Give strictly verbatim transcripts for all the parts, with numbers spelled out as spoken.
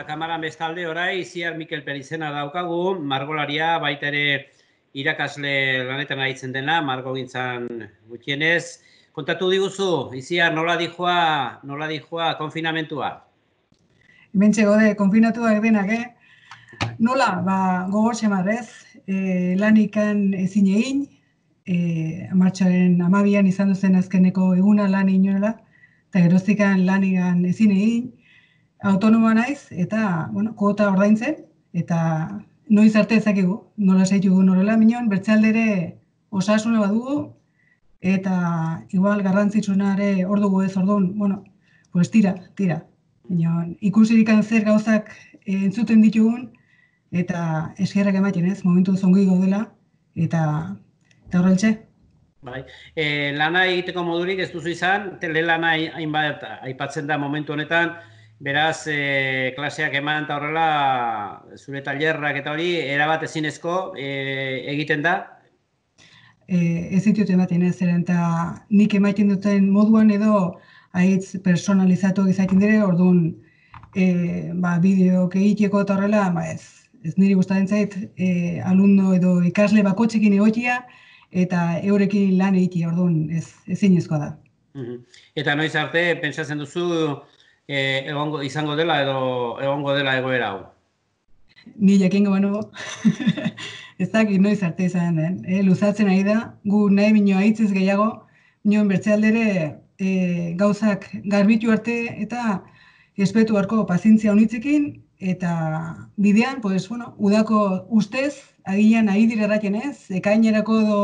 kamaran bestalde orai Itziar Mikel Perizena daukagu, margolaria, baita ere irakasle lanetan aritzen dena, margogintzan gutxienez. Kontatu diguzu, Itziar, nola dijoa, nola dijoa konfinamentua? Hementxe gode, konfinatuak denak, eh? Nola, ba, gogor xamarrez, e, lanikan ezin egin, e, martxoaren amabian izan duzen azkeneko eguna lan inoela, eta geroztikan lanigan ezin egin, autonomoa naiz, eta, bueno, kuota ordaintzen, eta noiz arte ezakigu, nola zaitugu norela, minon, bertzealdere osasuna badugu, eta igual garrantzitsunare hor dugu ez orduan, bueno, pues tira, tira. Minon, ikusirikan zer gauzak entzuten ditugun, eta eskerrak ematen ez, momentu zongi gaudela, eta, eta horreltxe. Bai. E, lana egiteko modurik ez duzu izan, telelana hainbat aipatzen da momentu honetan, beraz, e, klaseak eman eta horrela, zure tailerrak eta hori, erabat ezinezko e, egiten da? E, ez ditut ematen ez, zeren, eta nik ematen duten moduan edo haitz personalizatu izaiten dire, orduan, e, ba, bideok egiteko eta horrela, ba ez, ez niri gustatzen zait, e, alumno edo ikasle bakotxekin egotia, eta eurekin lan egitea, orduan, ez, ezinezkoa da. Eta noiz arte, pentsatzen duzu, e, egongo, izango dela edo egongo dela egoera hau? Ni jakingo banu, ez dakit noiz arte izan den. E, luzatzen ari da, gu nahi minua hitzez gehiago, minuen bertzealdere e, gauzak garbitu arte eta espetu harko pazientzia honitzekin, eta bidean, pues, bueno, udako ustez, agian nahi dira erraten ez, ekainerako edo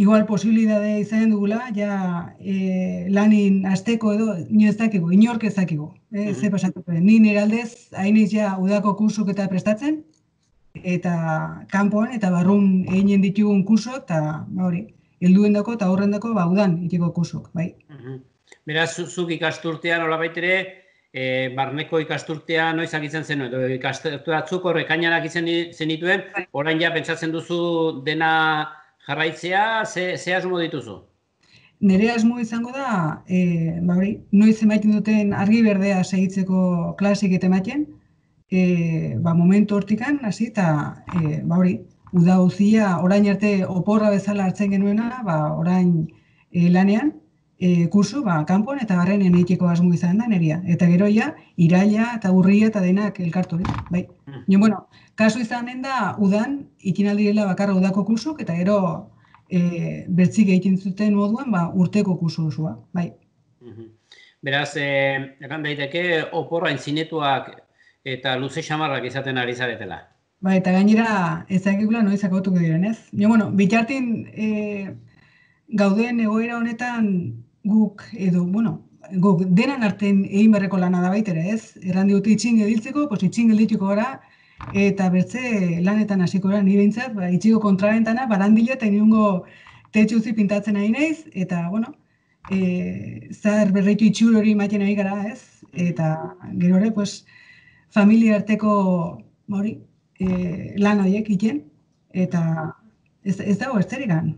igual posibilidade izan dugula, ja e, lanin azteko edo, nio ez dakigu, inork ez dakigu. E, ze pasatuko, ni nire aldez, hainiz ja udako kursuk eta prestatzen, eta kanpoan eta barrun eginen ditugun kursok, eta hori, helduen dako eta horren dako, ba, udan itiko kursok, bai. Beraz, zuk ikasturtean, hola baitere, e, barneko ikasturtean noiz agitzen zen, edo ikasturteatzuk horre kainanak izan zenituen, orain ja pentsatzen duzu dena jarraitzea, ze, ze asmo dituzu? Nire asmo izango da, e, ba hori, noiz emaiten duten argi berdea segitzeko klasik eta ematen, e, ba momentu hortikan, hasi, eta e, ba hori, uda uzia, orain arte oporra bezala hartzen genuena, ba orain e, lanean, e, kursu, ba, kanpon eta barrenean egiteko asmo izan da neria. Eta gero ja, iraila eta urria eta denak elkartu, bai. Jo, bueno, kasu izan den da, udan, ikinaldirela bakarra udako kursuk, eta gero e, bertzik egiten zuten moduan, ba, urteko kursu osua, bai. Beraz, eh, egan daiteke, oporra intzinetuak eta luze xamarrak izaten ari zaretela. Ba, eta gainera ezagikula noiz akautuko diren, ez? Jo, bueno, bitartin e, gauden egoera honetan guk edo, bueno, guk denan arten egin berreko lana da baitere, ez? Erran dute itxin gediltzeko, pues itxin geldituko gara, eta bertze lanetan hasiko gara, ni behintzat, ba, itxiko kontrabentana, barandila eta inungo tetxuzi pintatzen ari naiz, eta, bueno, e, zahar berreitu itxur hori ematen ari gara, ez? Eta gero ere, pues, familia arteko, hori, e, lan horiek iten, eta ez, ez dago ezterigan.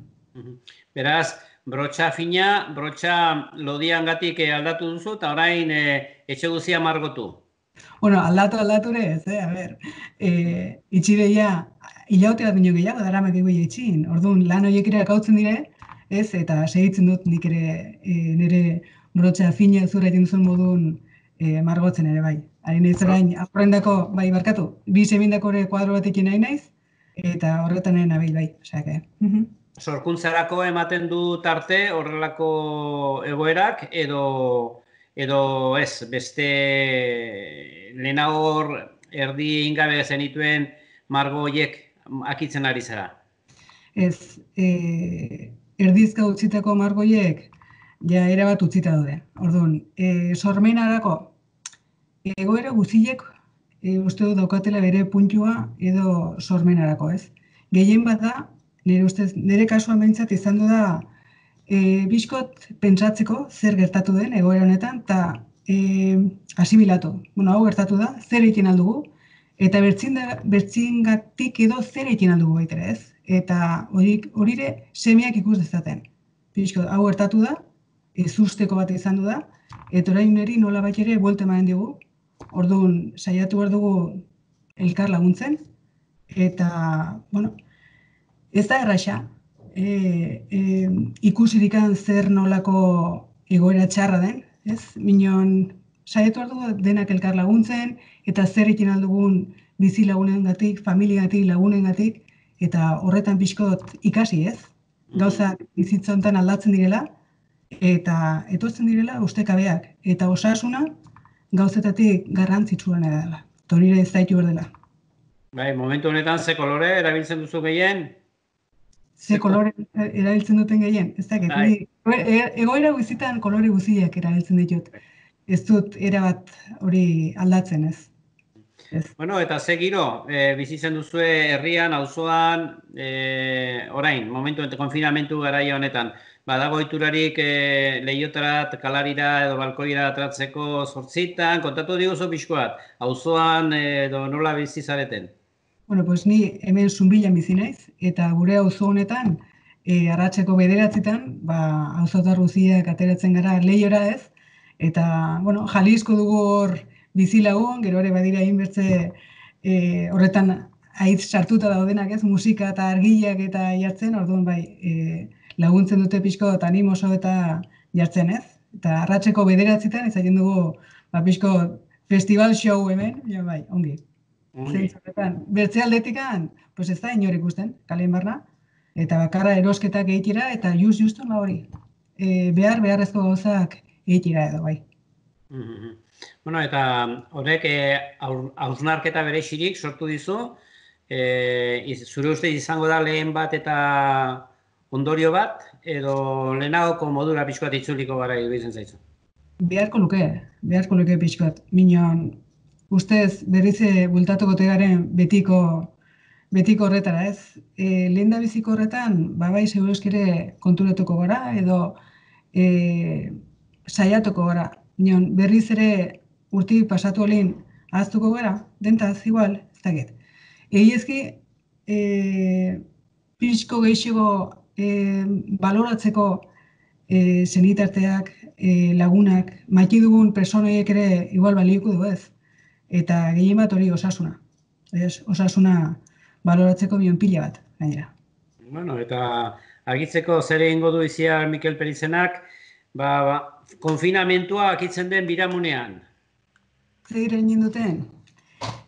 Beraz, brotxa fina, brotxa lodiangatik aldatu duzu, eta orain e, etxe guzia margotu. Bueno, aldatu aldatu ere ez, eh? A ber, e, itxideia, hilaute bat minio gehiago, dara mak egoia itxin. Orduan, lan horiek ere akautzen dire, ez, eta segitzen dut nik ere e, nire brotxa fina zura egin duzun modun e, margotzen ere bai. Hain ez orain, aurrendako, bai, barkatu, bi semindako ere kuadro batekin nahi naiz, eta horretan nahi nabil bai, osea, uh-huh. Sorkuntzarako ematen du tarte horrelako egoerak, edo, edo ez, beste lehenago erdi ingabe zenituen margo horiek akitzen ari zara? Ez, e, erdizka utzitako margo horiek, ja erabat utzita daude. Orduan, e, sormenarako, egoera guztiek e, uste dut daukatela bere puntua edo sormenarako, ez? Gehien bat da, nire ustez, nire kasuan behintzat izan du da e, bizkot pentsatzeko zer gertatu den egoera honetan, eta e, asimilatu. Bueno, hau gertatu da, zer egiten aldugu, eta bertzingatik edo zer egiten aldugu baitere, ez? Eta horire semiak ikus dezaten. Bizkot, hau gertatu da, ez usteko bat izan du da, eta orain niri nola bat ere buelte ematen digu, Orduan, saiatu behar dugu elkar laguntzen, eta, bueno, ez da erraxa, e, e, ikusirikan zer nolako egoera txarra den, ez? Minon, saiatu behar dugu denak elkar laguntzen, eta zer egin aldugun bizi lagunengatik, familiatik, lagunengatik, eta horretan pixkot ikasi, ez? Gauza bizitza honetan aldatzen direla, eta etortzen direla ustekabeak, eta osasuna gauzetatik garrantzitsuena dela. Torire ez zaitu behar dela. Bai, momentu honetan ze kolore erabiltzen duzu gehien? Ze kolore erabiltzen duten gehien? Ez dakit, Bai. egoera guzitan kolore guziak erabiltzen ditut. Ez dut erabat hori aldatzen, ez? Ez. Bueno, eta ze giro, e, bizitzen duzue herrian, auzoan, e, orain, momentu ente konfinamentu garaia honetan, badago iturarik e, lehiotarat, kalarira edo balkoira atratzeko zortzitan, kontatu diguzu pixkoat, auzoan edo nola bizi zareten? Bueno, pues ni hemen Zunbilan bizi naiz, eta gure auzo honetan, e, arratseko bederatzitan, ba, auzotar guziak ateratzen gara lehiora ez, eta, bueno, Jalisco dugu hor bizilagun, gero ere badira inbertze e, horretan aitz sartuta daudenak ez, musika eta argiak eta jartzen, orduan bai, e, laguntzen dute pixko eta animoso eta jartzen ez. Eta arratseko bederatzitan izaten dugu ba, pixko festival show hemen, ja bai, ongi. Zentzuretan, bertze aldetikan, pues ez da inor ikusten, kalean barna, eta bakarra erosketak egitira, eta just justu la hori. E, behar, beharrezko gauzak egitira edo, bai. Mm-hmm. Bueno, eta horrek hausnarketa berexirik sortu dizu, e, zure uste izango da lehen bat eta ondorio bat, edo lehenagoko modura pixkoat itzuliko gara iruditzen zaizu? Beharko luke, beharko luke pixkoat. Minon, ustez berrize bultatuko tegaren betiko, betiko horretara ez. E, lehen da biziko horretan, babai segurazkere konturatuko gara, edo e, saiatuko gara. Minon, berriz ere urti pasatu olin ahaztuko gara, dentaz, igual, ez dakit. Egiezki, e, pixko gehiago e, baloratzeko e, zenitarteak, e, lagunak, maiti dugun personoiek ere igual balioko du ez. Eta gehien bat hori osasuna. Ez, osasuna baloratzeko bion pila bat, gainera. Bueno, eta argitzeko zer egingo du iziar Mikel Perizenak, ba, ba, konfinamentua akitzen den biramunean. Zer egin duten?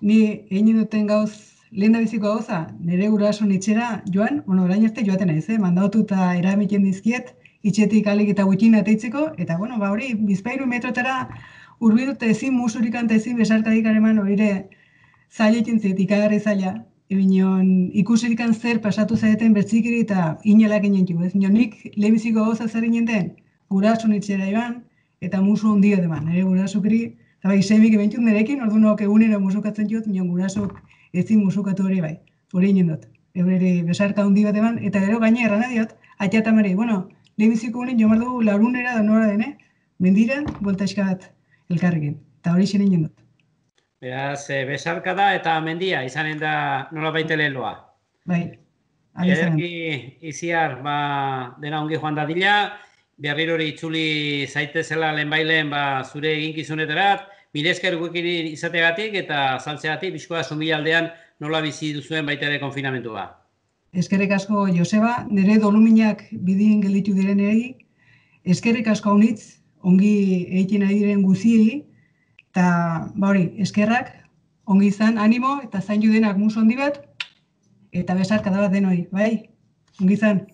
Ni egin duten gauz, lehen da biziko gauza, nire guraso itxera joan, bueno, orain arte joaten naiz, eh? Mandatu eta eramiken dizkiet, itxetik alik eta gutxin ateitzeko, eta bueno, ba hori, bizpairu metrotara urbidute ezin musurikan eta ezin besarkadik areman horire zailekin zait, ikagarri zaila, ebinon ikusirikan zer pasatu zaeten bertzikiri eta inelak inentu, ez? Nik lehenbiziko gauza zer inenten, guraso itxera joan, eta musu ondio deman, nire gurasokri, eta bai, semik ebentut nirekin, orduan egunero musukatzen jut, minon gurasok ezin musukatu hori bai, hori inendot. Eurere besarka handi bat eman, eta gero gaina erran adiot, atiatamari, bueno, lehenbiziko honen jomar dugu lagunera da nora dene, mendiran, boltaizka bat elkarrekin, eta hori xenen jendot. Beraz, besarka da eta mendia, izanen da nola baite leloa. Bai, Ederki iziar, ba, dena ongi joan dadila, berrirori itzuli zaitezela lehenbailen ba, zure eginkizuneterat, mire esker guekin izategatik eta saltzegatik, bizkoa Zunbila aldean nola bizi duzuen baita ere konfinamentua. Eskerrik asko Joseba, nire doluminak bidien gelditu direnei, eskerrik asko haunitz, ongi egiten ari diren guziei, eta ba hori, eskerrak, ongi izan, animo, eta zain judenak musu handi bat, eta besarka da bat denoi, bai? Ongi izan.